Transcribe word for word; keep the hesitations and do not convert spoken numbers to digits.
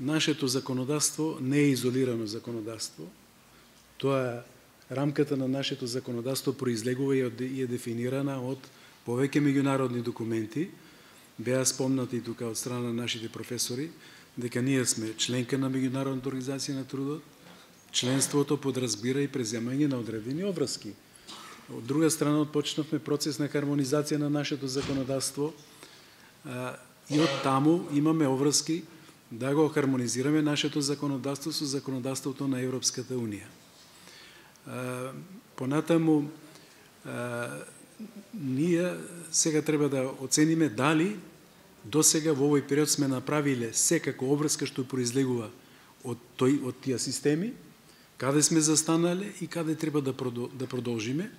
нашето законодавство не е изолирано законодавство. Тоа рамката на нашето законодавство произлегува и е дефинирана од повеќе меѓународни документи. Беа спомнати тука од страна на нашите професори дека ние сме членка на Меѓународната организација на трудот. Членството подразбира и преземање на одредени обврски. Од друга страна, отпочнавме процес на хармонизација на нашето законодавство и од таму имаме обврски да го хармонизираме нашето законодавство со законодавството на Европската Унија. Понатаму, ние сега треба да оцениме дали до сега во овој период сме направиле секако обврска што произлегува од тој од тие системи, каде сме застанале и каде треба да продолжиме.